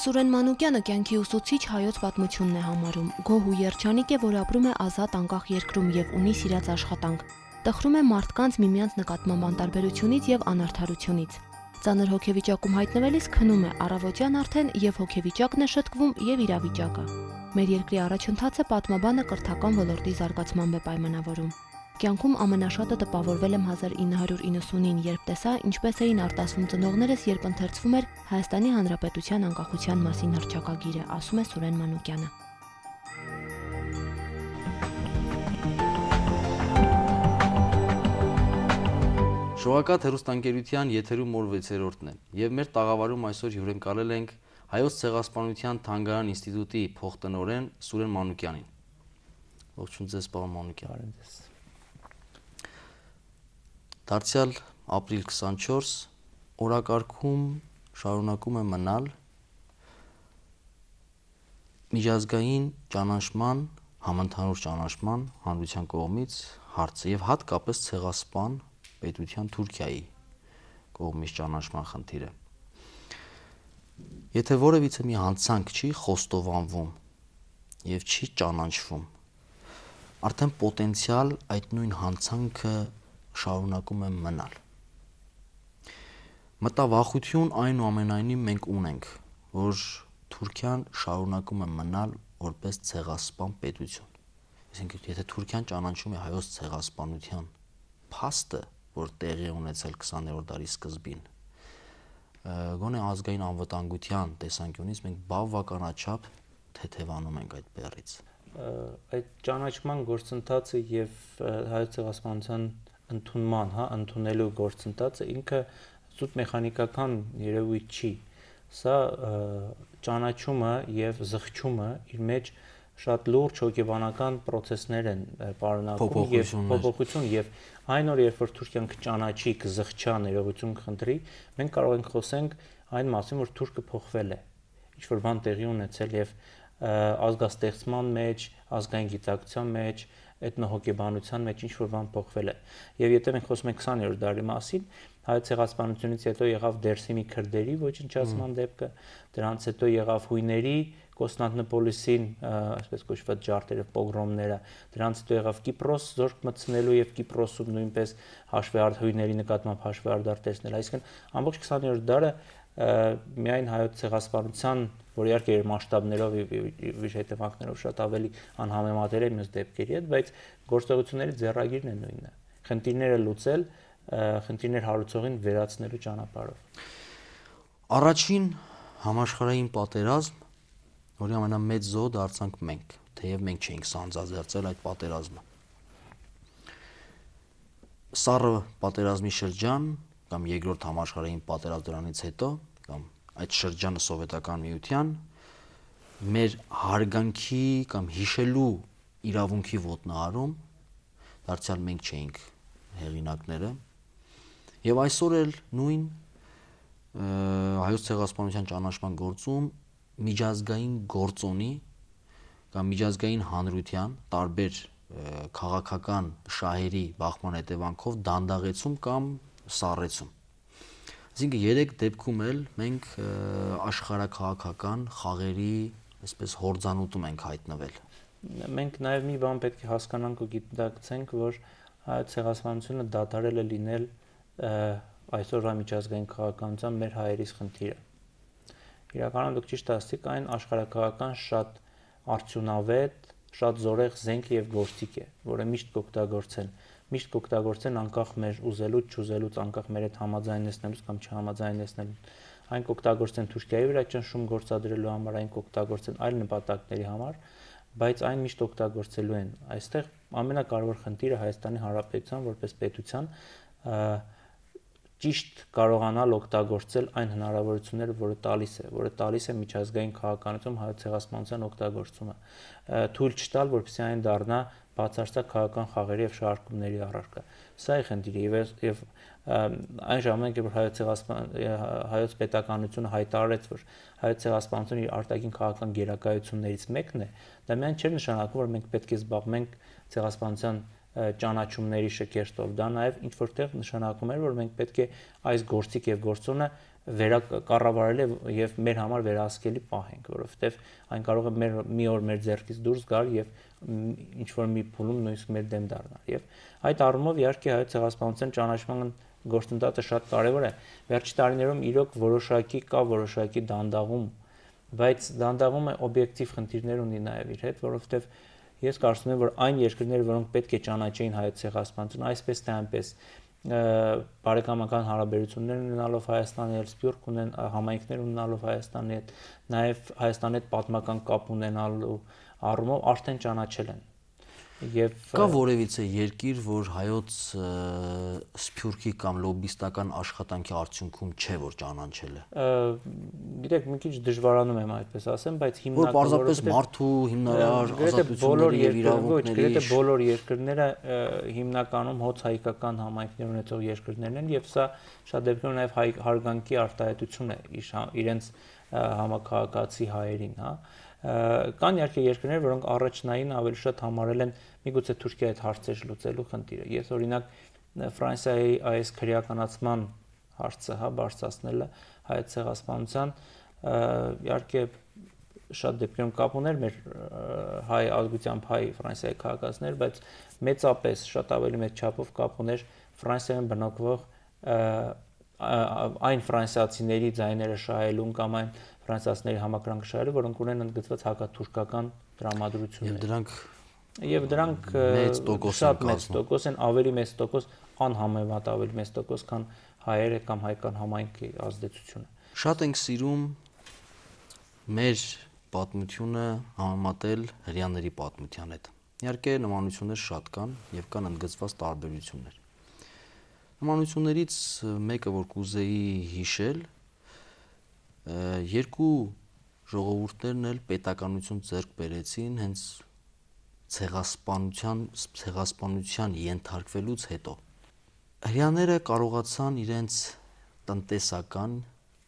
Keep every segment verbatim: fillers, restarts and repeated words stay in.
Սուրեն Մանուկյանը կյանքի ուսուցիչ հայոց պատմությունն է համարում։ Գոհ ու երջանիկ է, որ ապրում է ազատ անկախ երկրում եւ ունի սիրած աշխատանք։ Տխրում է մարդկանց միմյանց նկատմամբ անտարբերությունից եւ անարդարությունից։ Ծանր հոգեվիճակում հայտնվելիս քնում է առավոտյան արդեն եւ հոգեվիճակն է շտկվում եւ իրավիճակը։ Մեր երկրի առաջընթացը պատմաբանը կրթական ոլորտի զարգացմամբ է պայմանավորում։ Կյանքում ամենաշատը տպավորվել եմ հազար ինը հարյուր իննսունին, երբ տեսա, ինչպես էին արտասվում ծնողներս, երբ ընթերցվում էր Հայաստանի Հանրապետության անկախության մասին հռչակագիրը, ասում է Սուրեն Մանուկյանը։ Շողակաթ հեռուստաընկերության եթերում օր վեցերորդն է, եւ մեր տաղավարում այսօր հյուրընկալել ենք Հայոց ցեղասպանության թանգարան ինստիտուտի փոխտնօրեն Սուրեն Մանուկյանին։ Ողջույն ձեզ, պարոն Մանուկյան։ Դարձյալ ապրիլ քսանչորս օրակարգում շարունակում է մնալ միջազգային ճանաչման, համընդհանուր ճանաչման հանրության կողմից հարցը եւ հատկապես ցեղասպան պետության Թուրքիայի կողմից ճանաչման խնդիրը։ Եթե որևիցե մի հանցանք չի խոստովանվում եւ չի ճանաչվում, արդեն պոտենցիալ այդ նույն հանցանքը շարունակում է մնալ։ Մտավախություն այնուամենայնիվ մենք ունենք, որ Թուրքիան շարունակում է մնալ որպես ցեղասպան պետություն։ Այսինքն, եթե Թուրքիան ճանաչում է հայոց ցեղասպանության փաստը, որ տեղի ունեցել քսաներորդ դարի սկզբին, գոնե ազգային անվտանգության տեսանկյունից մենք բավականաչափ թեթևանում ենք այդ բեռից։ Այդ ճանաչման գործընթացը եւ հայոց ցեղասպանության ընդունման, հա, ընդունելու գործընթացը ինքը զուտ մեխանիկական երևույթ չի։ Սա ճանաչումը եւ զղջումը իր մեջ շատ լուրջ հոգեբանական process-ներ են պարունակում եւ փոփոխություն եւ այն օր երբ որ Թուրքիան կճանաչի, կզղջա, ներողություն կխնդրի, մենք կարող ենք խոսենք այն մասին, որ Թուրքը փոխվել է, ինչ որ բան տեղի ունեցել եւ ազգաստեղծման մեջ, ազգային գիտակցության մեջ, էթնոհոգեբանության մեջ ինչ որ բան փոխվել է։ Եվ եթե մենք խոսում ենք քսաներորդ դարի մասին, հայոց ցեղասպանությունից հետո եղավ Դերսիմի քրդերի ոչնչացման դեպքը, դրանից հետո եղավ հույների Կոստանդնուպոլիսին, այսպես կոչված ջարդերը, պոգրոմները, դրանից հետո եղավ Կիպրոս զորք մտցնելու եւ Կիպրոսում նույնպես հաշվեհարդ հույների նկատմամբ հաշվեհարդար տեսնել, այսինքն ամբողջ քսաներորդ դարը միայն հայոց ցեղասպանության, որ իհարկե իր մասշտաբներով եւ իր հետևանքներով շատ ավելի անհամեմատեր է մյուս դեպքերի հետ, բայց գործողությունների ձեռագիրն է նույնը։ Խնդիրները լուծել, խնդիրներ հարուցողին վերացնելու ճանապարհով։ Առաջին համաշխարհային պատերազմ, որի ամենամեծ զոհը դարձանք մենք, թեև մենք չէինք սանձազերծել այդ պատերազմը։ Սառը պատերազմի շրջան կամ երկրորդ համաշխարհային պատերազմ դրանից հետո կամ այդ շրջանը սովետական միության մեր հարգանքի կամ հիշելու իրավունքի ոտնահարում դարձյալ մենք չէինք հեղինակները եւ այսօր էլ նույն հայոց ցեղասպանության ճանաչման գործում միջազգային գործոնի կամ միջազգային հանրության տարբեր քաղաքական շահերի բախման հետևանքով դանդաղեցում կամ սառեցում։ Այսինքն երեք դեպքում էլ մենք աշխարհաքաղաքական խաղերի այսպես հորձանուտում ենք հայտնվել։ Մենք նաև մի բան պետք է հասկանանք ու գիտակցենք, որ հայոց ցեղասպանությունը դադարել է լինել այսօրվա միջազգային քաղաքականության մեր հայերիս խնդիրը։ Իրականում դուք ճիշտ ասացիք, այն աշխարհաքաղաքական շատ արդյունավետ, շատ զորեղ զենք եւ գործիք է, որը միշտ կօգտագործեն, միշտ կօգտագործեն անկախ մեր ուզելուց, չուզելուց, անկախ մեր հետ համաձայնեցնելուց կամ չհամաձայնեցնելուց։ Այն կօգտագործեն Թուրքիայի վրա ճնշում գործադրելու համար, այն կօգտագործեն այլ նպատակների համար, բայց այն միշտ օգտագործելու են։ Այստեղ ամենակարևոր խնդիրը Հայաստանի Հանրապետության որպես պետության ճիշտ կարողանալ օգտագործել այն հնարավորությունները, որը տալիս է, որը տալիս է միջազգային քաղաքականությունում հայոց ցեղասպանության օգտագործումը, թույլ չտալ, որպեսզի այն դառնա բացարձակ քաղաքական խաղերի եւ շարժումների առարկա։ Սա է խնդիրը եւ այն ժամանակ, որ հայոց ցեղասպան հայոց պետականությունը հայտարարեց, որ հայոց ցեղասպանությունը իր արտաքին քաղաքական գերակայություններից մեկն է, դա միայն չէր նշանակում, որ մենք պետք է զբաղվենք ցեղասպանության ճանաչումների շքերթով, դա նաև ինչ որտեղ նշանակում էր, որ մենք պետք է այս գործիք եւ գործոնը վերակառավարել եւ մեր համար վերահսկելի պահ ենք, որովհետեւ այն կարող է մեր մի օր մեր ձեռքից դուրս գալ եւ ինչ որ մի փուլում նույնիսկ մեր դեմ դառնալ։ Եվ այդ առումով իհարկե հայոց ցեղասպանության ճանաչման գործընթացը շատ կարևոր է։ Վերջի տարիներում իրոք որոշակի կա որոշակի դանդաղում, բայց դանդաղումը օբյեկտիվ խնդիրներ ունի նաեւ իր հետ, որովհետեւ ես կարծում եմ, որ այն երկրները, որոնք պետք է ճանաչեին հայոց ցեղասպանությունը, այսպես թե այնպես բարեկամական հարաբերություններ ունենալով Հայաստանի հետ, սփյուռք ունեն համայնքներ ունենալով Հայաստանի հետ, նաև Հայաստանի հետ պատմական կապ ունենալու առումով արդեն ճանաչել են։ Եվ կա որևիցե երկիր, որ հայոց սփյուռքի կամ լոբիստական աշխատանքի արդյունքում չէ որ ճանաչել է։ Գիտեք, մի քիչ դժվարանում եմ այդպես ասեմ, բայց հիմնականում որ պարզապես մարդու հիմնարար ազատությունների եւ իրավունքների, գրեթե բոլոր երկրները հիմնականում հոց հայկական համայնքներ ունեցող երկրներն են եւ սա շատ դեպքերում նաեւ հարգանքի արտահայտություն է իրենց համակարգացի հայերին, հա։ Կան իհարկե երկրներ, որոնք առաջնային ավելի շատ համարել են միգուցե Թուրքիայի հետ հարցեր լուծելու խնդիրը։ Ես օրինակ Ֆրանսիայի այս քրեականացման հարցը, հա, բարձրացնելը հայոց ցեղասպանության իհարկե շատ դեպքերում կապ ուներ մեր հայ ազգությամբ հայ Ֆրանսիայի քաղաքացիներ, բայց մեծապես շատ ավելի մեծ չափով կապ ուներ Ֆրանսիայում բնակվող այն ֆրանսիացիների ձայները շահելուն կամ այն ֆրանսիացիների համակրանքը շահելու, որոնք ունեն ընդգծված հակաթուրքական տրամադրություններ։ Եվ դրանք եւ դրանք շատ մեծ տոկոս են, ավելի մեծ տոկոս, անհամեմատ ավելի մեծ տոկոս, քան հայերը կամ հայկական համայնքի ազդեցությունը։ Շատ ենք սիրում մեր պատմությունը համեմատել հрьяաների պատմության հետ։ Իհարկե նմանություններ շատ կան եւ կան ընդգծված տարբերություններ։ Նմանություններից մեկը, որ կուզեի հիշել, երկու ժողովուրդներն էլ պետականություն ձեռք բերեցին հենց ցեղասպանության ցեղասպանության ենթարկվելուց հետո։ Հрьяաները կարողացան իրենց տնտեսական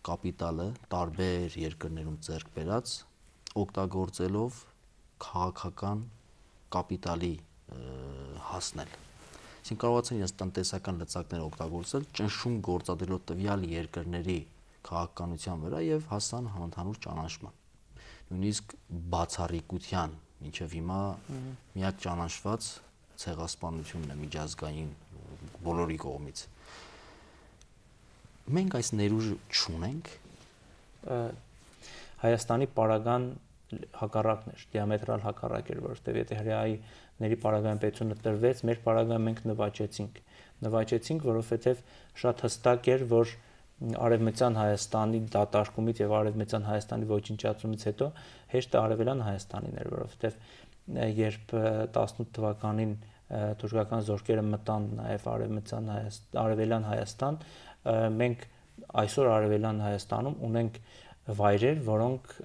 կապիտալը տարբեր երկրներում ձեռք բերած օգտագործելով քաղաքական կապիտալի հասնել։ Այսինքն կարողացան իրենց տնտեսական լծակները օգտագործել ճնշում գործադրելով տվյալ երկրների քաղաքականության վրա եւ հասան համընդհանուր ճանաչման։ Նույնիսկ բացառիկության մինչև հիմա միակ ճանաչված ցեղասպանությունն է միջազգային բոլորի կողմից։ Մենք այս ներուժը չունենք։ Հայաստանի պարագան հակառակն էր, դիամետրալ հակառակ էր, որովհետեւ եթե հրեաների պարագայում պետությունը տրվեց, մեր պարագայում մենք նվաճեցինք։ Նվաճեցինք, որովհետեւ շատ հստակ էր, որ Արևմտյան Հայաստանի դատարկումից եւ Արևմտյան Հայաստանի ոչնչացումից հետո հեշտ Արևելյան Հայաստանին էր, որովհետեւ երբ տասնութ թվականին թուրքական զորքերը մտան նաեւ Արևմտյան Հայաստան, Արևելյան Հայաստան, մենք այսօր Արևելյան Հայաստանում ունենք վայրեր, որոնք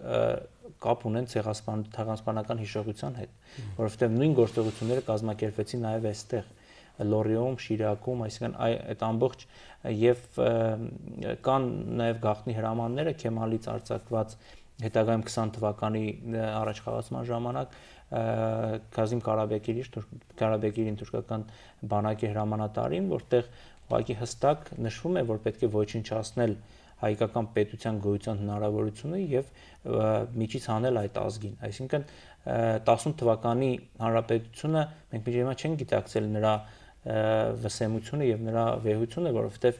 կապ ունեն ցեղասպանական հիշողության հետ, որովհետեւ նույն գործողությունները կազմակերպվեցին նաեւ այստեղ Լորիում, Շիրակում, այսինքն այդ ամբողջ եւ կան նաեւ գաղտնի հրամանները Քեմալից արձակված հետագայում քսան թվականի առաջխաղացման ժամանակ Կազիմ Կարաբեկիրի Կարաբեկիրին թուրքական բանակի հրամանատարին, որտեղ ուղղակի հստակ նշվում է, որ պետք է ոչնչացնել հայկական պետության գոյության հնարավորությունը եւ միջից հանել այդ ազգին։ Այսինքն տասնութ թվականի հանրապետությունը մենք միջի հիմա չենք գիտակցել նրա վսեմությունը եւ նրա վեհությունը, որովհետեւ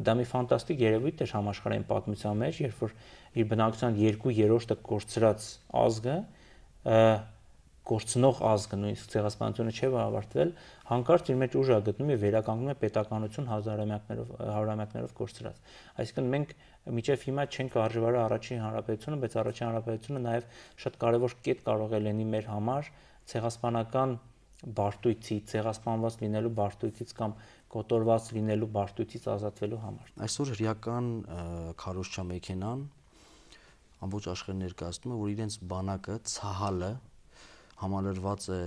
դա մի ֆանտաստիկ երևույթ էր համաշխարհային պատմության մեջ, երբ որ իր բնակության երկու երրորդը կորցրած ազգը, կորցնող ազգը, նույնիսկ ցեղասպանությունը չէ ավարտվել, հանկարծ իր մեջ ուժ է գտնում եւ վերականգնում է պետականություն հազարամյակներով հարյուրամյակներով կորցրած։ Այսինքն մենք միջև հիմա չենք արժևարել առաջին հանրապետությունը, բայց առաջին հանրապետությունը նաեւ շատ կարեւոր կետ կարող է լինի մեր համար ցեղասպանական բարդույթի, ցեղասպանված լինելու բարդույթից կամ կոտորված լինելու բարդույթից ազատվելու համար։ Այսօր հրեական քարոզչամեքենան ամբողջ աշխարհը ներկայացնում է, որ իրենց բանակը ցահալը համալրված է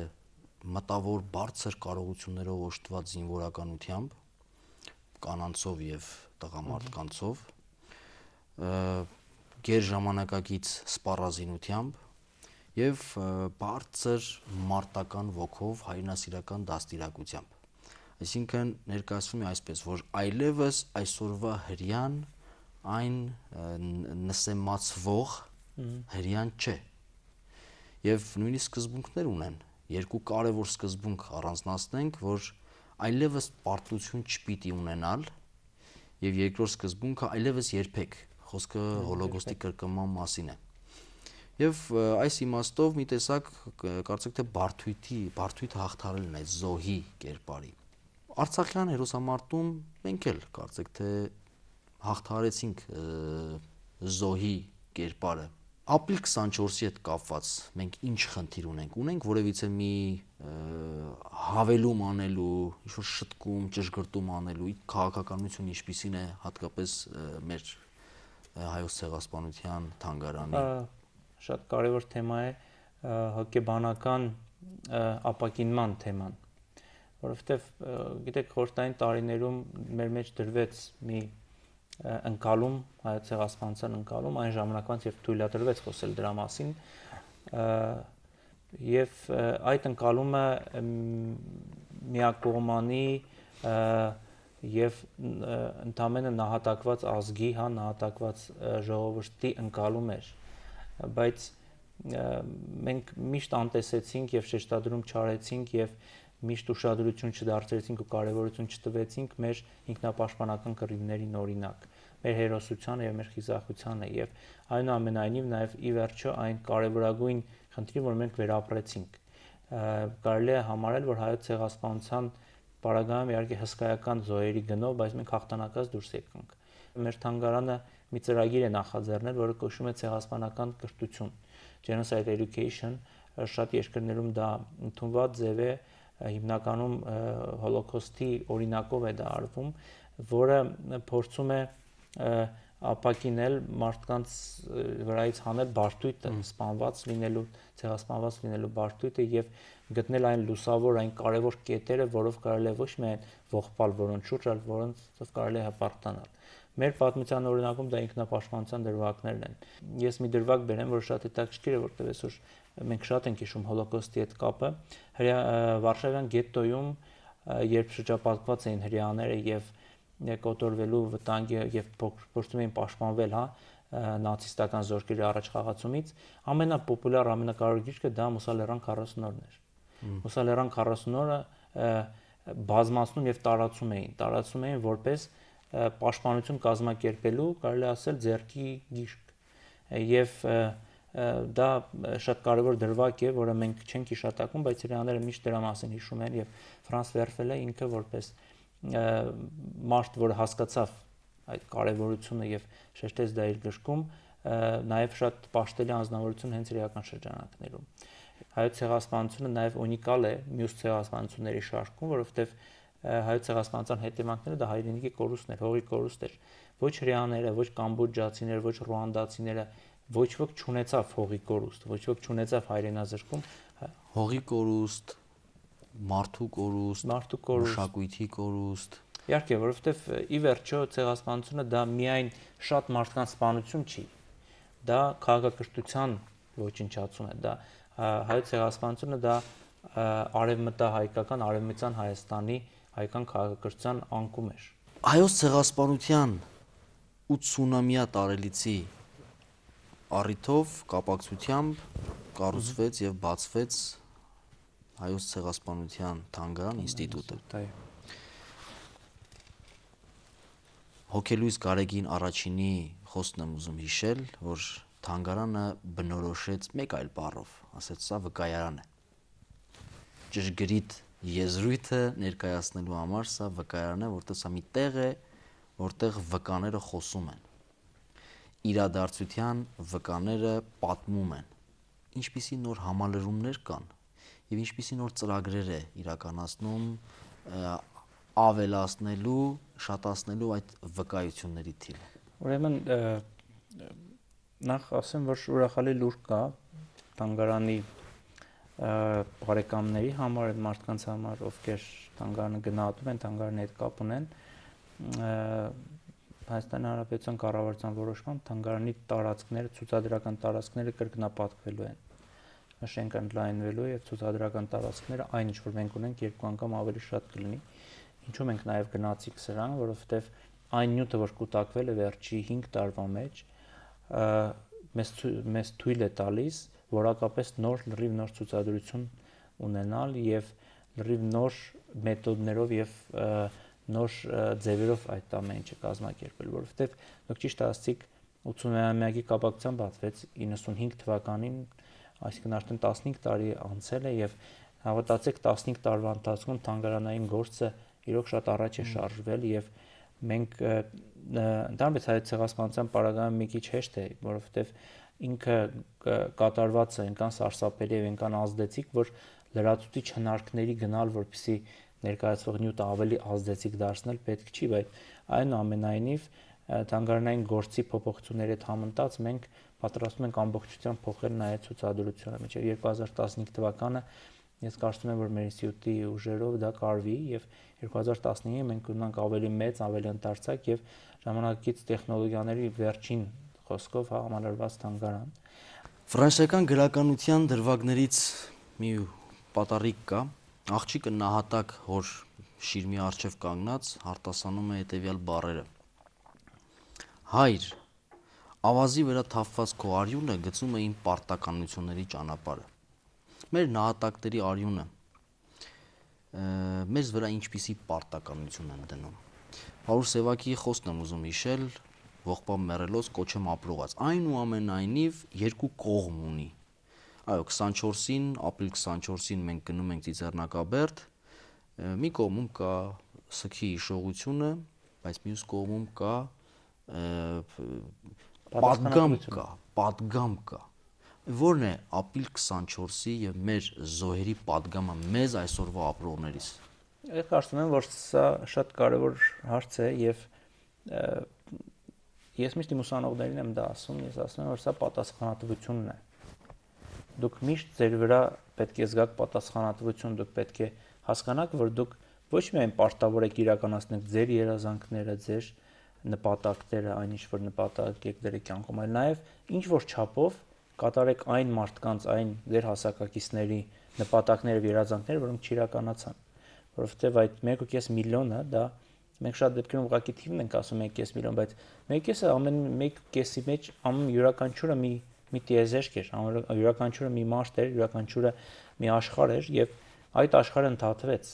մտավոր բարձր կարողություններով օժտված զինվորականությամբ, կանանցով եւ տղամարդկանցով, գերժամանակակից սպառազինությամբ եւ բարձր մարտական ոգով հայրենասիրական դաստիարակությամբ։ Այսինքն ներկայացվում է այսպես, որ այլևս այսօրվա հрьяան այն նսեմացվող հрьян չէ։ Եվ նույնիսկ սկզբունքներ ունեն, երկու կարևոր սկզբունք առանձնացնենք, որ այլևս պարտություն չպիտի ունենալ, եւ երկրորդ սկզբունքը այլևս երբեք, խոսքը հոլոկոստի կրկնման մասին է։ Եվ այս իմաստով մի տեսակ կարծեք թե բարդույթի, բարդույթը հաղթարելն է զոհի կերպարի։ Արցախյան հերոսամարտում մենք էլ կարծեք թե հաղթարեցինք զոհի կերպարը։ Ապրիլ քսանչորսի հետ կապված մենք ինչ խնդիր ունենք։ Ունենք որևիցե մի հավելում անելու, ինչ-որ շտկում, ճշգրտում անելու, քաղաքականությունը ինչպիսին է հատկապես մեր հայոց ցեղասպանության թանգարանի։ Շատ կարևոր թեմա է հոգեբանական ապակինման թեման, որովհետև գիտեք խորհրդային տարիներում մեր մեջ դրվեց մի ընկալում, հայոց ցեղասպանության ընկալում, այն ժամանակվանից եւ թույլատրվեց խոսել դրա մասին, եւ այդ ընկալումը միակողմանի եւ ընդամենը նահատակված ազգի, հա, նահատակված ժողովրդի ընկալում էր, բայց մենք միշտ անտեսեցինք եւ շեշտադրում չարեցինք եւ միշտ ուշադրություն չդարձրեցինք ու կարևորություն չտվեցինք մեր ինքնապաշտպանական կռիվներին օրինակ, մեր հերոսությանը եւ մեր խիզախությանը եւ այնուամենայնիվ նաեւ ի վերջո այն կարևորագույն խնդիրը, որ մենք վերապրեցինք։ Կարելի է համարել, որ հայոց ցեղասպանության պարագայում իհարկե հսկայական զոհերի գնով, բայց մենք հաղթանակած դուրս եկանք։ Մեր թանգարանը մի ծրագիր է նախաձեռնել, որը կոչվում է ցեղասպանական կրթություն, Genocide Education, շատ երկրներում դա ընդունված ձև է, հիմնականում հոլոկոստի օրինակով է դա արվում, որը փորձում է ապակինել մարդկանց վրայից հանել բարդույթը, սպանված լինելու, ցեղասպանված լինելու բարդույթը եւ գտնել այն լուսավոր, այն կարևոր կետերը, որով կարելի է ոչ միայն ողբալ որոնց շուրջ, այլ որոնցով կարելի է հպարտանալ։ Մեր պատմության օրինակում դա ինքնապաշտպանության դրվագներն են։ Ես մի դրվագ բերեմ, որ շատ հետաքրքիր է, որտեղ այսօր մենք շատ ենք հիշում հոլոկոստի հետ կապը։ Վարշավյան գետտոյում, երբ շրջապատված էին հрьяաները եւ կոտորվելու վտանգի եւ փորձում էին պաշտպանվել, հա, նացիստական զորքերի առաջ խաղացումից, ամենապոպուլյար, ամենակարևոր գիրքը դա Մուսալերան քառասունորն էր։ Մուսալերան քառասունորը բազմացնում եւ տարածում էին, տարածում էին որպես պաշտպանություն կազմակերպելու, կարելի ասել, ձեռքի գիրք։ Եվ դա շատ կարևոր դրվագ է, որը մենք չենք հիշատակում, բայց հрьяաները միշտ դրա մասին հիշում են եւ Ֆրանս Վերֆելը ինքը որպես մարդ, որը հասկացավ այդ կարևորությունը եւ շեշտեց դա իր գրքում, նաեւ շատ պաշտելի անձնավորություն հենց իրական շրջանակներում։ Հայոց ցեղասպանությունը նաեւ ունիկալ է մյուս ցեղասպանությունների շարքում, որովհետեւ հայոց ցեղասպանության հետևանքները դա հայրենիքի կորուստն էր, հողի կորուստ էր։ Ոչ հрьяաները, ոչ կամբոջացիները, ոչ ռուանդացիները, ոչ ոք չունեցավ հողի կորուստ, ոչ ոք չունեցավ հայրենազրկում, հողի կորուստ, մարդու կորուստ, մարդու կորուստ, մշակույթի կորուստ։ Իհարկե, որովհետև ի վերջո ցեղասպանությունը դա միայն շատ մարդկանց սպանություն չի, դա քաղաքակրթության ոչնչացում է, դա հայոց ցեղասպանությունը դա արևմտահայկական, արևմտյան Հայաստանի հայկական քաղաքակրթության անկում էր։ Հայոց ցեղասպանության ութսունամյա տարելիցի առիթով կապակցությամբ կառուցվեց եւ բացվեց Հայոց ցեղասպանության թանգարան ինստիտուտը։ Հոգելույս Գարեգին առաջինի խոսքն եմ ուզում հիշել, որ թանգարանը բնորոշեց մեկ այլ բառով, ասեց սա վկայարան է։ Ճշգրիտ եզրույթը ներկայացնելու համար սա վկայարան է, որտեղ սա մի տեղ է, որտեղ վկաները խոսում են։ Իրադարձության վկաները պատմում են։ Ինչպիսի նոր համալրումներ կան եւ ինչպիսի նոր ծրագրեր է իրականացնում ավելացնելու, շատացնելու այդ վկայությունների թիվը։ Ուրեմն նախ ասեմ, որ ուրախալի լուր կա թանգարանի բարեկամների համար, այդ մարդկանց համար, ովքեր թանգարանը գնահատում են, թանգարանի հետ կապ ունեն, Հայաստանի Հանրապետության կառավարության որոշմամբ թանգարանի տարածքները, ցուցադրական տարածքները կրկնապատկվելու են, շենք ընդլայնվելու եւ ցուցադրական տարածքները այն ինչ որ մենք ունենք երկու անգամ ավելի շատ կլինի։ Ինչու մենք նաև գնացինք սրան, որովհետև այն նյութը, որ կուտակվել է վերջի հինգ տարվա մեջ, մեզ մեզ թույլ է տալիս որակապես նոր լրիվ նոր ցուցադրություն ունենալ եւ լրիվ նոր մեթոդներով եւ նոր ձևերով այդ ամեն ինչը կազմակերպել, որովհետեւ դուք ճիշտ ասացիք ութսունամյակի կապակցությամբ բացվեց իննսունհինգ թվականին, այսինքն արդեն տասնհինգ տարի անցել է եւ հավատացեք տասնհինգ տարվա ընթացքում թանգարանային գործը իրոք շատ առաջ է շարժվել եւ մենք ընդհանրապես հայոց ցեղասպանության պարագայում մի քիչ հեշտ է, որովհետեւ ինքը կատարված է այնքան սարսափելի եւ այնքան ազդեցիկ, որ լրացուցիչ հնարքների գնալ, որպեսզի ներկայացվող նյութը ավելի ազդեցիկ դարձնել պետք չի, բայց այնուամենայնիվ թանգարանային գործի փոփոխությունների հետ համընթաց մենք պատրաստում ենք ամբողջությամբ փոխել նաև ցուցադրությունը։ Մինչև երկու հազար տասնհինգ թվականը ես կարծում եմ, որ մեր ինստիտուտի ուժերով դա կարվի եւ երկու հազար տասնհինգը մենք ունենք ավելի մեծ, ավելի ընդարձակ եւ ժամանակակից տեխնոլոգիաների վերջին խոսքով համալրված թանգարան։ Ֆրանսիական գրականության դրվագներից մի պատառիկ կա, աղջիկը նահատակ հոր շիրմի առջև կանգնած արտասանում է հետևյալ բառերը. Հայր, ավազի վրա թափված քո արյունը գցում է իմ պարտականությունների ճանապարհը։ Մեր նահատակների արյունը մեզ վրա ինչպիսի պարտականություն են դնում։ Պարուս Սևակի խոսքն եմ ուզում հիշել, ողբամ մեռելոց կոչեմ ապրողած։ Այնուամենայնիվ երկու կողմ ունի։ Այո, քսանչորսին, ապրիլ քսանչորսին մենք գնում ենք Ծիծեռնակաբերդ, մի կողմում կա սգի հիշողությունը, բայց մյուս կողմում կա պատգամ կա, պատգամ կա։ Որն է ապրիլ քսանչորսի եւ մեր զոհերի պատգամը մեզ այսօրվա ապրողներիս։ Ես կարծում եմ, որ սա շատ կարևոր հարց է եւ ես միշտ իմ ուսանողներին եմ դա ասում, ես ասում եմ, որ սա պատասխանատվությունն է։ Դուք միշտ ձեր վրա պետք է զգաք պատասխանատվություն, դուք պետք է հասկանաք, որ դուք ոչ միայն պարտավոր եք իրականացնել ձեր երազանքները, ձեր նպատակները, այն ինչ որ նպատակ եք դրել կյանքում, այլ նաեւ ինչ որ չափով կատարեք այն մարդկանց, այն ձեր հասակակիցների նպատակները եւ երազանքները, որոնք չիրականացան, որովհետեւ այդ մեկ ու կես միլիոնը դա մենք շատ դեպքերում ուղղակի թիվն ենք ասում մեկ ու կես միլիոն, բայց մեկ ու կեսը ամեն մեկ ու կեսի մեջ ամեն յուրաքանչյուրը մի մի տիեզերք էր, յուրաքանչյուրը մի մարդ էր, յուրաքանչյուրը մի աշխարհ էր եւ այդ աշխարհը ընդհատվեց։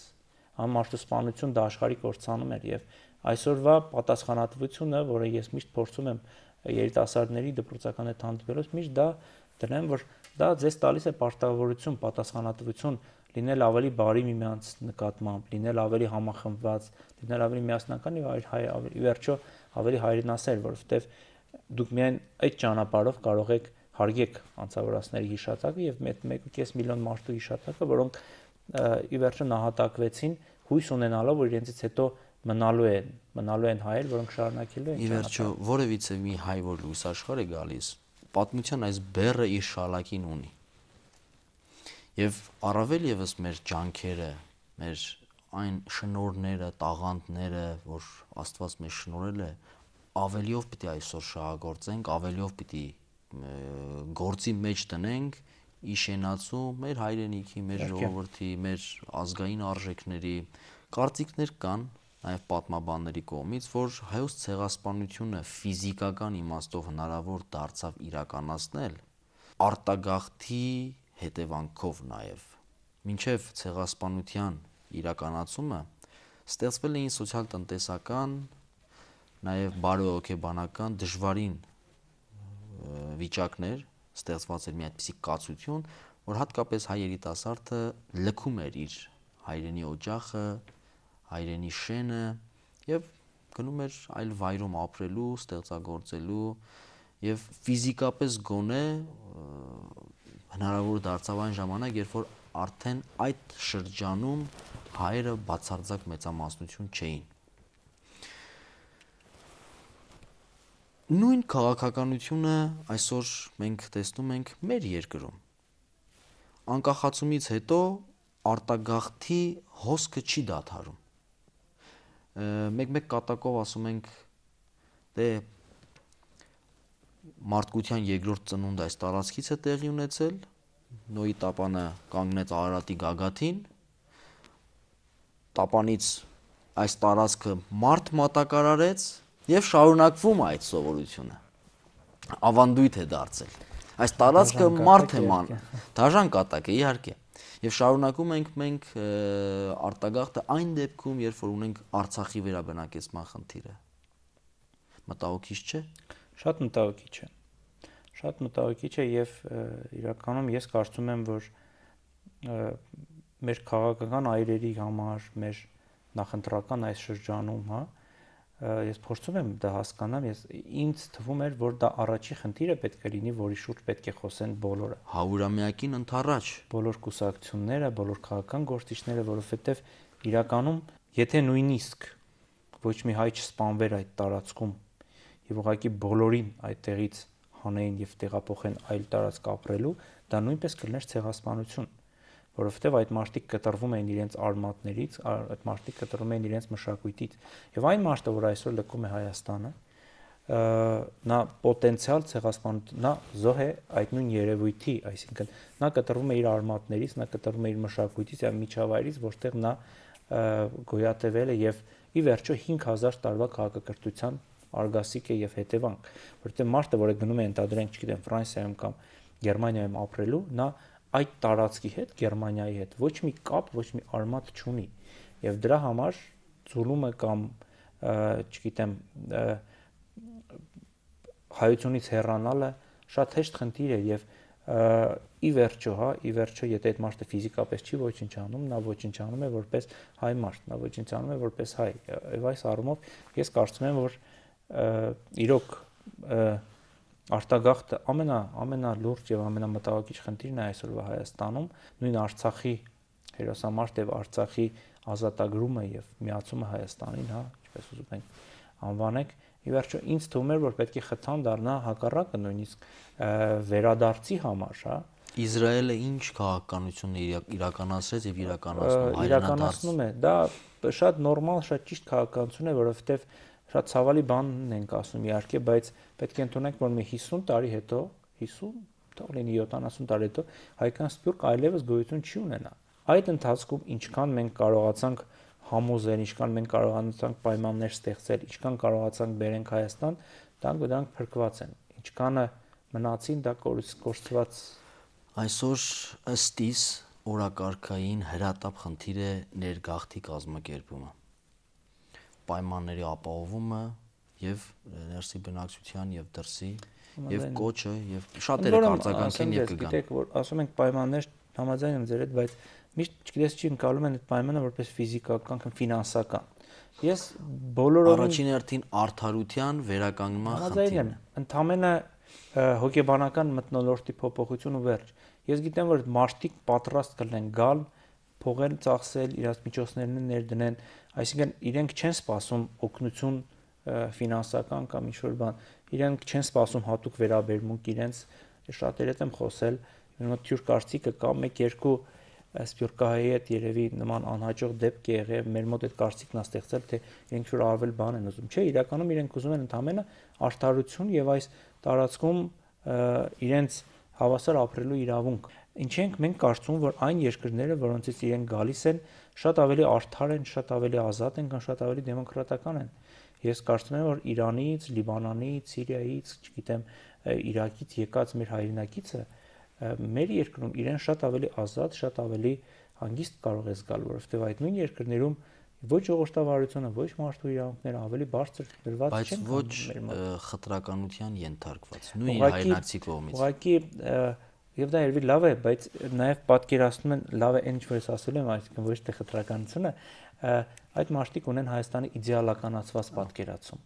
Համարտասպանություն դա աշխարհի կորցանում էր եւ այսօրվա պատասխանատվությունը, որը ես միշտ փորձում եմ երիտասարդների դպրոցական հետ հանդիպելուց միշտ դա դրեմ, որ դա ձեզ տալիս է պարտավորություն, պատասխանատվություն լինել ավելի բարի միմյանց նկատմամբ, լինել ավելի համախմբված, լինել ավելի միասնական եւ ավելի վերջո ավելի հայրենասեր, որովհետեւ դուք միայն այդ ճանապարհով կարող եք հարգեք անձավորացների հիշատակը եւ մեկ ու կես միլիոն մարդու հիշատակը, որոնք ի վերջո նահատակվեցին հույս ունենալով, որ իրենցից հետո մնալու են, մնալու են հայեր, որոնք շարունակելու են ճանապարհը։ Ի վերջո որևիցե մի հայ, որ լույս աշխարհ է գալիս, պատմության այս բեռը իր շալակին ունի։ Եվ առավել եւս մեր ջանքերը, մեր այն շնորհները, տաղանդները, որ Աստված մեզ շնորհել է, ավելիով պիտի այսօր շահագործենք, ավելիով պիտի գործի մեջ տնենք իշենացու մեր հայրենիքի, մեր ժողովրդի, մեր ազգային արժեքների կարծիքներ կան նաև պատմաբանների կողմից, որ հայոց ցեղասպանությունը ֆիզիկական իմաստով հնարավոր դարձավ իրականացնել արտագաղթի հետևանքով նաև։ Մինչև ցեղասպանության իրականացումը ստեղծվել էին սոցիալ-տնտեսական, նաև բարոյհոգեբանական դժվարին վիճակներ, ստեղծված էր մի այդպիսի կացություն, որ հատկապես հայ երիտասարդը լքում էր իր հայրենի օջախը, հայրենի շենը եւ գնում էր այլ վայրում ապրելու, ստեղծագործելու եւ ֆիզիկապես գոնե հնարավոր դարձավ այն ժամանակ, երբ որ արդեն այդ շրջանում հայերը բացարձակ մեծամասնություն չէին։ Նույն քաղաքականությունը այսօր մենք տեսնում ենք մեր երկրում։ Անկախացումից հետո արտագաղթի հոսքը չի դադարում։ Մեկ-մեկ կատակով ասում ենք, դե մարդկության երկրորդ ծնունդը այս տարածքից է տեղի ունեցել, Նոյի տապանը կանգնեց Արարատի գագաթին, տապանից այս տարածքը մարդ մատակարարեց եւ շարունակվում է այդ սովորությունը։ Ավանդույթ է դարձել։ Այս տարածքը մարդ է ման, դաժան կատակ է իհարկե։ Եվ շարունակում ենք մենք արտագաղթը այն դեպքում, երբ որ ունենք Արցախի վերաբնակեցման խնդիրը։ Մտահոգիչ չէ։ Շատ մտահոգիչ է։ Շատ մտահոգիչ է եւ իրականում ես կարծում եմ, որ մեր քաղաքական այրերի համար, մեր նախընտրական այս շրջանում, հա, ես փորձում եմ դա հասկանալ, ես ինձ թվում էր, որ դա առաջի խնդիրը պետք է լինի, որի շուրջ պետք է խոսեն բոլորը։ Հարյուրամյակին ընդառաջ Բոլոր կուսակցությունները, բոլոր քաղաքական գործիչները, որովհետև իրականում, եթե նույնիսկ ոչ մի հայ չսպանվեր այդ տարածքում եւ ուղղակի բոլորին այդտեղից հանեին եւ տեղափոխեն այլ տարածք ապրելու, դա նույնպես կլներ ցեղասպանություն, որովհետև այդ մարդիկ կտրվում էին իրենց արմատներից, այդ մարդիկ կտրվում էին իրենց մշակույթից։ Եվ այն մարդը, որ այսօր լքում է Հայաստանը, նա պոտենցիալ ցեղասպանություն, նա զոհ է այդ նույն երևույթի, այսինքն նա կտրվում է իր արմատներից, նա կտրվում է իր մշակույթից եւ միջավայրից, որտեղ նա գոյատևել է եւ ի վերջո հինգ հազար տարվա քաղաքակրթության արգասիկ է եւ հետևանք, որովհետեւ մարդը, որը գնում է ընդհանրենք, չգիտեմ, Ֆրանսիայում կամ Գերմանիայում ապրելու, նա այդ տարածքի հետ, Գերմանիայի հետ ոչ մի կապ, ոչ մի արմատ չունի եւ դրա համար ծուլումը կամ չգիտեմ հայությունից հեռանալը շատ հեշտ խնդիր է եւ ի վերջո, հա, ի վերջո, եթե այդ մարդը ֆիզիկապես չի ոչնչանում, նա ոչնչանում է որպես հայ մարդ, նա ոչնչանում է որպես հայ։ Եվ այս առումով ես կարծում եմ, որ իրոք արտագաղթը ամենա ամենալուրջ եւ ամենամտահոգիչ խնդիրն է այսօրվա Հայաստանում, նույն Արցախի հերոսամարտ եւ Արցախի ազատագրումը եւ միացումը Հայաստանին, հա, ինչպես ուզում ենք անվանենք, ի վերջո ինձ թվում էր, որ պետք է խթան դառնա հակառակը նույնիսկ վերադարձի համար, հա։ Իսրայելը ինչ քաղաքականություն է իրականացրեց եւ իրականացնում իրականացնում է, դա շատ նորմալ, շատ ճիշտ քաղաքականություն է, որովհետեւ շատ ցավալի բան ենք ասում իհարկե, բայց պետք է ընդունենք, որ մի հիսուն տարի հետո, հիսուն, թող լինի յոթանասուն տարի հետո հայկական սփյուռք այլևս գոյություն չի ունենա։ Այդ ընթացքում ինչքան մենք կարողացանք համոզել, ինչքան մենք կարողացանք պայմաններ ստեղծել, ինչքան կարողացանք բերենք Հայաստան, դրանք դրանք փրկված են։ Ինչքանը մնացին, դա կորցված։ Այսօր ըստ իս օրակարգային հրատապ խնդիր է ներգաղթի կազմակերպումը, պայմանների ապահովումը եւ ներսի բնակչության եւ դրսի եւ կոչը եւ շատերը կարձագանքեն եւ կգան։ Գիտեք, որ ասում ենք պայմաններ, համաձայն եմ ձեր հետ, բայց միշտ չգիտես չի ընկալում են այդ պայմանը որպես ֆիզիկական կամ ֆինանսական։ Ես բոլորովին առաջին հերթին արդարության վերականգնման խնդիրն եմ, ընդամենը հոգեբանական մթնոլորտի փոփոխություն ու վերջ։ Ես գիտեմ, որ մարդիկ պատրաստ կլինեն գալ, փողեր ծախսել, իրաց միջոցներն ներդնեն, այսինքն իրենք չեն սպասում օգնություն ֆինանսական կամ ինչ-որ բան, իրենք չեն սպասում հատուկ վերաբերմունք իրենց, շատերի հետ եմ խոսել, մոտ թյուր կարծիքը կա, մեկ-երկու սփյուռքահայի հետ երևի նման անհաջող դեպք է եղել, մեր մոտ այդ կարծիքն է ստեղծել, թե իրենք ինչ-որ արվել բան են ուզում, չէ, իրականում իրենք ուզում են ընդամենը արդարություն եւ այս տարածքում իրենց հավասար ապրելու իրավունք։ Ինչ ենք մենք կարծում, որ այն երկրները, որոնցից իրենք գալիս են, շատ ավելի արդար են, շատ ավելի ազատ են, կամ շատ ավելի դեմոկրատական են։ Ես կարծում եմ, որ Իրանից, Լիբանանից, Սիրիայից, չգիտեմ, Իրաքից եկած մեր հայրենակիցը մեր երկրում իրեն շատ ավելի ազատ, շատ ավելի հանգիստ կարող է զգալ, որովհետև այդ նույն երկրներում ոչ ժողովրդավարությունը, ոչ մարդու իրավունքները ավելի բարձր դրված չեն, բայց ոչ խտրականության ենթարկված, նույն հայրենակցի կողմից։ Ուղղակի եւ դա երևի լավ է, բայց նաեւ պատկերացնում են լավ է այն ինչ որ ես ասել եմ, այսինքն ոչ թե խտրականությունը, այդ մարդիկ ունեն Հայաստանի իդեալականացված պատկերացում։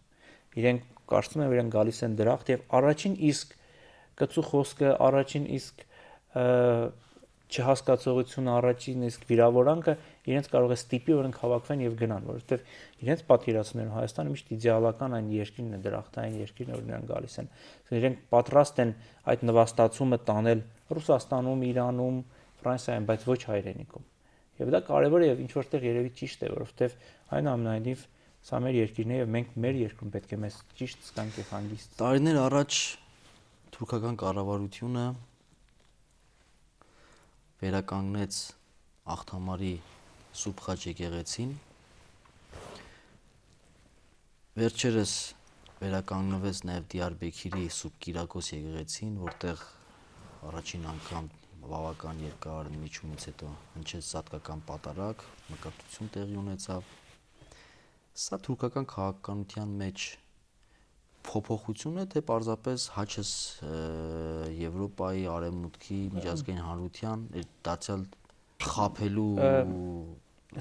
Իրենք կարծում են, որ իրենք գալիս են դրախտ եւ առաջին իսկ կծու խոսքը, առաջին իսկ չհասկացողությունը, առաջին իսկ վիրավորանքը իրենց կարող է ստիպի, որ հավաքվեն եւ գնան, որովհետեւ իրենց պատկերացումներում Հայաստանը միշտ իդեալական այն երկիրն է, դրախտային երկիրն է, որ նրանք գալիս են։ Իրենք պատրաստ են այդ նվաստացումը տանել Ռուսաստանում, Իրանում, Ֆրանսիայում, բայց ոչ հայրենիքում։ Եվ դա կարևոր է եւ ինչ որտեղ երևի ճիշտ է, որովհետեւ այնուամենայնիվ սա մեր երկիրն է եւ մենք մեր երկրում պետք է մեզ ճիշտ զգանք եւ հանգիստ։ Տարիներ առաջ թուրքական կառավարությունը վերականգնեց Աղթամարի Սուրբ Խաչ եկեղեցին։ Վերջերս վերականգնվեց նաև Դիարբեքիրի Սուրբ Կիրակոս եկեղեցին, որտեղ առաջին անգամ բավական երկար միջումից հետո հնչեց սատկական պատարագ, մկրտություն տեղի ունեցավ։ Սա թուրքական քաղաքականության մեջ փոփոխություն է, թե պարզապես հաճես Եվրոպայի արևմուտքի միջազգային հանրության դարձյալ խաբելու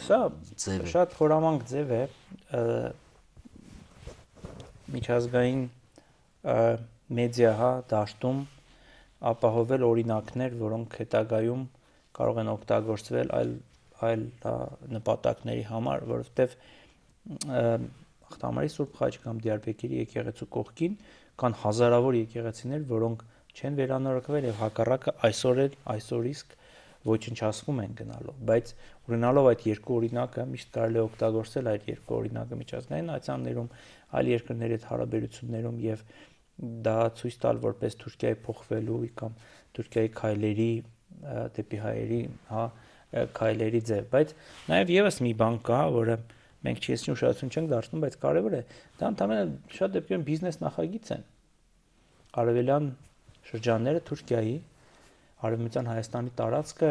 Սա ձև է։ Շատ խորամանկ ձև է միջազգային մեդիա հա դաշտում ապահովել օրինակներ, որոնք հետագայում կարող են օգտագործվել այլ այլ նպատակների համար, որովհետև Ախտամարի Սուրբ Խաչ կամ Դիարբեկիրի եկեղեցու կողքին կան հազարավոր եկեղեցիներ, որոնք չեն վերանորոգվել եւ հակառակը այսօր էլ այսօր իսկ ոչնչացվում են գնալով, բայց ունենալով այդ երկու օրինակը միշտ կարելի է օգտագործել այդ երկու օրինակը միջազգային այցաններում, այլ երկրների հետ հարաբերություններում եւ դա ցույց տալ որպես Թուրքիայի փոխվելու կամ Թուրքիայի քայլերի դեպի հայերի, հա, քայլերի ձև, բայց նաեւ եւս մի բան կա, որը մենք չեսնի ուշադրություն չենք դարձնում, բայց կարևոր է, դա ընդհանրապես շատ դեպքերում բիզնես նախագիծ են։ Արևելյան շրջանները Թուրքիայի, Արևմտյան Հայաստանի տարածքը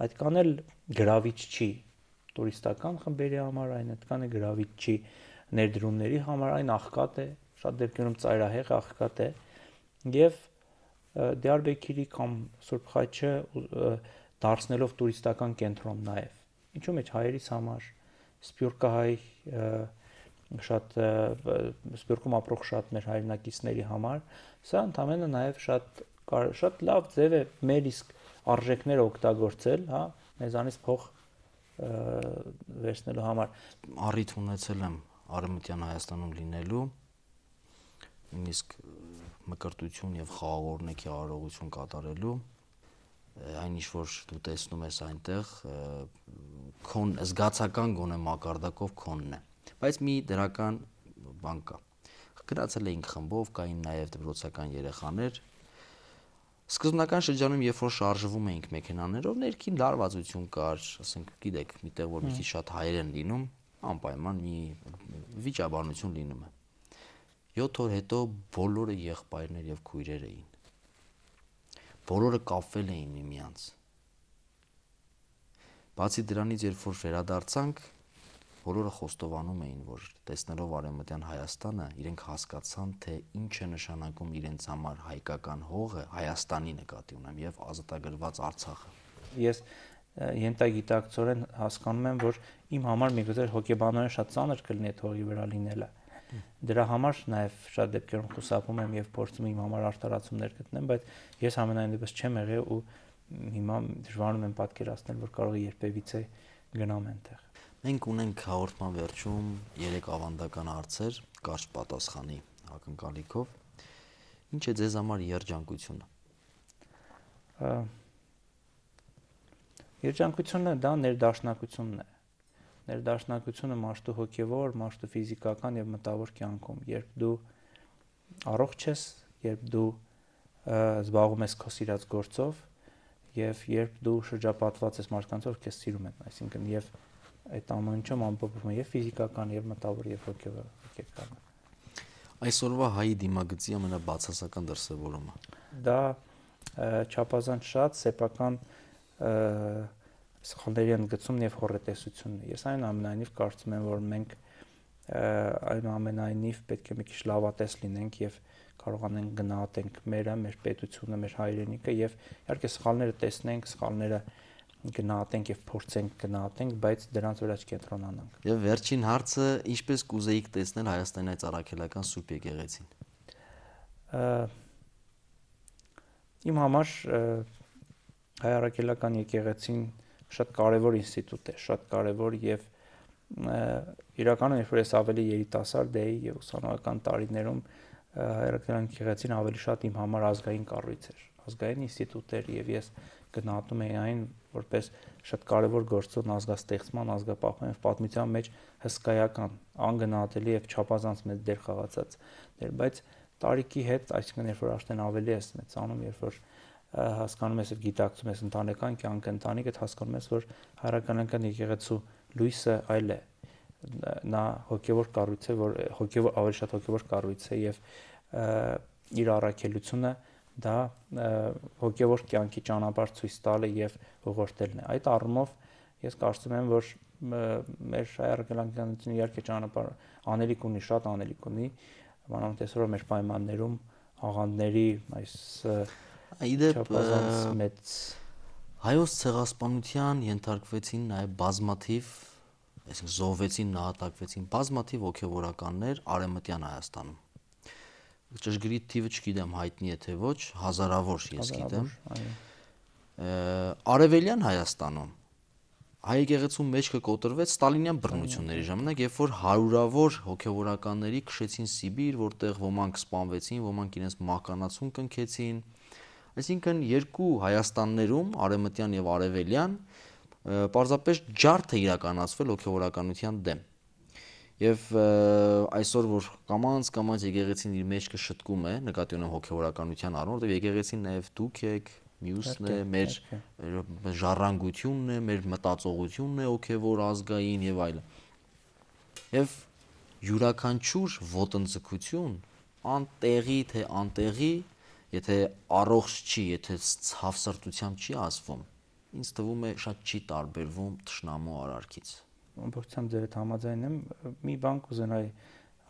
այդքան էլ գրավիչ չի տուրիստական խմբերի համար, այն այդքան է գրավիչ չի ներդրումների համար, այն աղքատ է, շատ դեպքերում ծայրահեղ աղքատ է, եւ Դիարբեկիրի կամ Սուրբ Խաչը դարձնելով տուրիստական կենտրոն նաեւ։ Ինչու՞ մեջ հայերիս համար, Սփյուռքահայ շատ Սփյուռքում ապրող շատ մեր հայրենակիցների համար, սա ընդհանրապես նաեւ շատ շատ լավ ձև է մեր իսկ արժեքները օգտագործել, հա, մեզանից փող վերցնելու համար։ Առիթ ունեցել եմ Արևմտյան Հայաստանում լինելու, նույնիսկ մկրտություն եւ խաղաղօրհնեքի արարողություն կատարելու, այն ինչ որ դու տեսնում ես այնտեղ քոն զգացական գոնե մակարդակով քոնն է, բայց մի դրական բան կա։ Գնացել էինք խմբով, կային նաեւ դպրոցական երեխաներ։ Սկզբնական շրջանում, երբ որ շարժվում էինք մեքենաներով, ներքին լարվածություն կար, ասենք, գիտեք, միտեղ որ մի քիչ շատ հայեր են լինում, անպայման մի վիճաբանություն լինում է։ յոթ օր հետո բոլորը եղբայրներ եւ քույրեր էին։ Բոլորը կապվել էին միմյանց։ Բացի դրանից, երբ որ վերադարձանք, բոլորը խոստովանում էին, որ տեսնելով Արևմտյան Հայաստանը, իրենք հասկացան, թե ինչ է նշանակում իրենց համար հայկական հողը, Հայաստանի նկատի ունեմ, եւ ազատագրված Արցախը։ Ես ենթագիտակցորեն հասկանում եմ, որ իմ համար միգուցե հոգեբանորեն շատ ծանր կլինի այդ հողի վրա լինելը։ Դրա համար նաև շատ դեպքերում խուսափում եմ եւ փորձում իմ համար արտարացումներ գտնեմ, բայց ես ամենայն դեպս չեմ եղել ու հիմա դժվարանում եմ պատկերացնել, որ կարող է երբևիցե գնամ այնտեղ։ Մենք ունենք հաղորդման վերջում երեք ավանդական հարցեր, կարճ պատասխանի ակնկալիքով։ Ինչ է ձեզ համար երջանկությունը։ Երջանկությունը դա ներդաշնակությունն է։ Ներդաշնակությունը մարդու հոգևոր, մարդու ֆիզիկական եւ մտավոր կյանքում, երբ դու առողջ ես, երբ դու զբաղվում ես քո սիրած գործով եւ երբ դու շրջապատված ես մարդկանց, որ քեզ սիրում են, այսինքն եւ այդ ամեն ինչում ամփոփվում է եւ ֆիզիկական եւ մտավոր եւ հոգևոր հոգեկանը։ Այսօրվա հայի դիմագծի ամենաբացասական դրսևորումը։ Դա չափազանց շատ սեփական սխալների ընդգծումն եւ հոռետեսությունն է։ Ես այնուամենայնիվ կարծում եմ, որ մենք այնուամենայնիվ պետք է մի քիչ լավատես լինենք եւ կարողանենք գնահատենք մերը, մեր պետությունը, մեր հայրենիքը եւ իհարկե սխալները տեսնենք, սխալները գնահատենք եւ փորձենք գնահատենք, բայց դրանց վրա չկենտրոնանանք։ Եվ վերջին հարցը, ինչպես կուզեիք տեսնել Հայաստանի այս առաքելական Սուրբ եկեղեցին։ Իմ համար հայ առաքելական եկեղեցին շատ կարևոր ինստիտուտ է, շատ կարևոր եւ իրականում երբ որ ես ավելի երիտասարդ էի եւ ուսանողական տարիներում հայրաքելական եկեղեցին ավելի շատ իմ համար ազգային կառույց էր, ազգային ինստիտուտ էր եւ ես գնահատում էի այն որպես շատ կարևոր գործոն ազգաստեղծման, ազգապահպանության եւ պատմության մեջ հսկայական, անգնահատելի եւ չափազանց մեծ դեր խաղացած դեր, բայց տարիքի հետ, այսինքն երբ որ արդեն ավելի ես մեծանում, երբ որ հասկանում ես եւ գիտակցում ես ընտանեկան կյանքը, ընտանիքդ հասկանում ես, որ հայրաքանական եկեղեցու լույսը այլ է, նա հոգևոր կառույց է, որ հոգևոր ավելի շատ հոգևոր կառույց է եւ իր առաքելությունը դա հոգևոր կյանքի ճանապարհ ցույց տալը եւ ուղղորդելն է։ Այդ առումով ես կարծում եմ, որ մեր հայ-արգելանքանությունը իհարկե ճանապարհ անելիք ունի, շատ անելիք ունի, մանավանդ այսօր մեր պայմաններում աղանդների այս չափազանց մեծ հայոց ցեղասպանության ենթարկվեցին նաև բազմաթիվ, այսինքն զոհվեցին, նահատակվեցին բազմաթիվ հոգևորականներ Արևմտյան Հայաստանում։ Ճշգրիտ թիվը չգիտեմ, հայտնի է թե ոչ, հազարավոր ես գիտեմ։ Արևելյան Հայաստանում հայ եկեղեցու մեջքը կոտրվեց ստալինյան բռնությունների ժամանակ, երբ որ հարյուրավոր հոգևորականների քշեցին Սիբիր, որտեղ ոմանք սպանվեցին, ոմանք իրենց մահկանացուն կնքեցին։ Այսինքն երկու Հայաստաններում, արևմտյան եւ արևելյան, պարզապես ջարդ է իրականացվել հոգևորականության դեմ։ Եվ այսօր որ կամաց կամաց եկեղեցին իր մեջքը շտկում է, նկատի ունեմ հոգևորականության առումով, որտեղ եկեղեցին նաև դուք եք, մյուսն է, մեր ժառանգությունն է, մեր մտածողությունն է հոգևոր ազգային եւ այլն։ Եվ յուրաքանչյուր ոտնձգություն անտեղի թե անտեղի, եթե առողջ չի, եթե ցավսրտությամբ չի ասվում, ինձ թվում է շատ չի տարբերվում թշնամու արարքից։ Ամբողջությամբ ձեր հետ համաձայն եմ, մի բան կուզենայի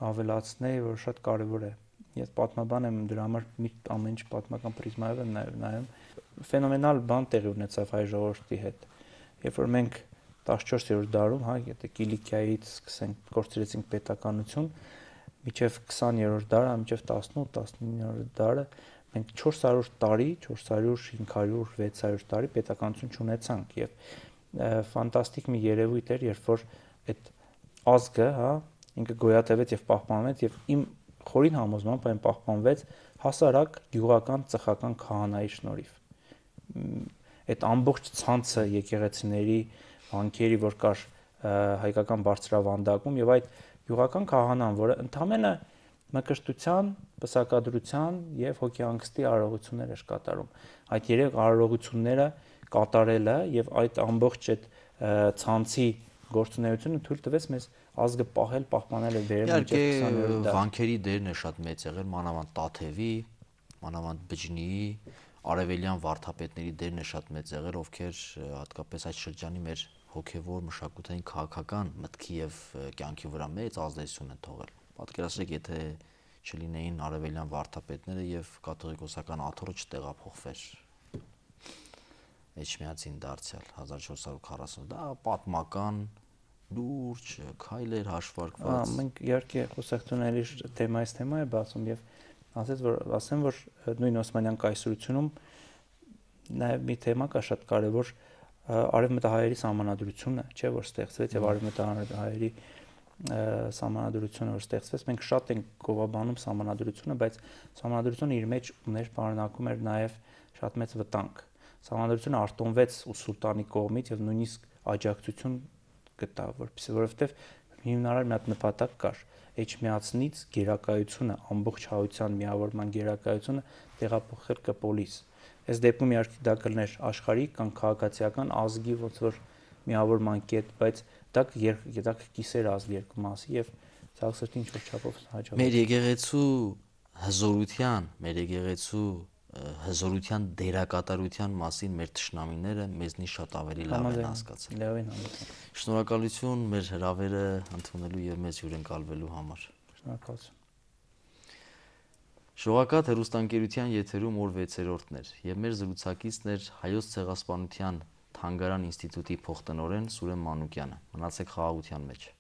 ավելացնել, որ շատ կարևոր է։ Ես պատմաբան եմ, դրա համար մի ամեն ինչ պատմական պրիզմայով եմ նայում։ Ֆենոմենալ բան տեղի ունեցավ հայ ժողովրդի հետ։ Երբ որ մենք տասնչորսերորդ դարում, հա, եթե Կիլիկիայից սկսենք, կորցրեցինք պետականություն, մինչև քսաներորդ դարը, մինչև տասնութ տասնիններորդ դարը մենք չորս հարյուր տարի, չորս հարյուր, հինգ հարյուր, վեց հարյուր տարի պետականություն չունեցանք եւ ֆանտաստիկ մի երևույթ էր, երբ որ այդ ազգը, հա, ինքը գոյատևեց եւ պահպանվեց եւ իմ խորին համոզմամբ այն պահպանվեց հասարակ գյուղական ծխական քահանայի շնորհիվ։ Այդ ամբողջ ցանցը եկեղեցիների, վանքերի, որ կար հայկական բարձրավանդակում եւ այդ գյուղական քահանան, որը ընդամենը մկրտության, պսակադրության եւ հոգեանգստի արարողություններ էր կատարում։ Այդ երեք արարողությունները կատարելը եւ այդ ամբողջ այդ ցանցի գործունեությունը թույլ տվեց մեզ ազգը պահել, պահպանել եւ վերել մինչեւ քսաներորդ դար։ Վանքերի դերն է շատ մեծ եղել, մանավանդ Տաթևի, մանավանդ Բջնիի, արևելյան վարդապետների դերն է շատ մեծ եղել, ովքեր հատկապես այդ շրջանի մեր հոգևոր, մշակութային, քաղաքական մտքի եւ կյանքի վրա մեծ ազդեցություն են թողել։ Պատկերացրեք, եթե չլինեին արևելյան վարդապետները եւ կաթողիկոսական աթոռը չտեղափոխվեր Էջմիածին դարձյալ հազար չորս հարյուր քառասուն, դա պատմական լուրջ քայլեր հաշվարկված։ Մենք իհարկե խոսակցությունների թեմայից թեմա է բացում եւ ասած որ ասեմ որ նույն Օսմանյան կայսրությունում նաեւ մի թեմա կա շատ կարեւոր արևմտահայերի սահմանադրությունը, չէ՞ որ ստեղծվեց եւ արևմտահայերի սահմանադրությունը որ ստեղծվեց, մենք շատ ենք գովաբանում սահմանադրությունը, բայց սահմանադրությունը իր մեջ ուներ պարունակում էր նաեւ շատ մեծ վտանգ։ Սահմանադրությունը արտոնվեց սուլտանի կողմից եւ նույնիսկ աջակցություն գտավ, որպեսզի որովհետեւ հիմնարար մի հատ նպատակ կար Էջմիածնից գերակայությունը, ամբողջ հայության միավորման գերակայությունը տեղափոխել կպոլիս։ Այս դեպքում իհարկե դա կլներ աշխարհիկ կամ քաղաքացիական ազգի ոնց որ միավորման կետ, բայց դա դա կիսեր ազգ երկու մասի եւ ցավսրտի ինչ որ չափով հաջողվեց։ Մեր եկեղեցու հզորության, մեր եկեղեցու հզորության դերակատարության մասին մեր թշնամիները մեզնից շատ ավելի լավ են հասկացել։ Լավին համոզում։ Շնորհակալություն մեր հրավերը ընդունելու եւ մեզ հյուրընկալվելու համար։ Շնորհակալություն։ Շողակաթ հեռուստաընկերության եթերում օր վեցերորդն էր եւ մեր զրուցակիցն էր Հայոց ցեղասպանության Թանգարան ինստիտուտի փոխտնօրեն Սուրեն Մանուկյանը։ Մնացեք խաղաղության մեջ։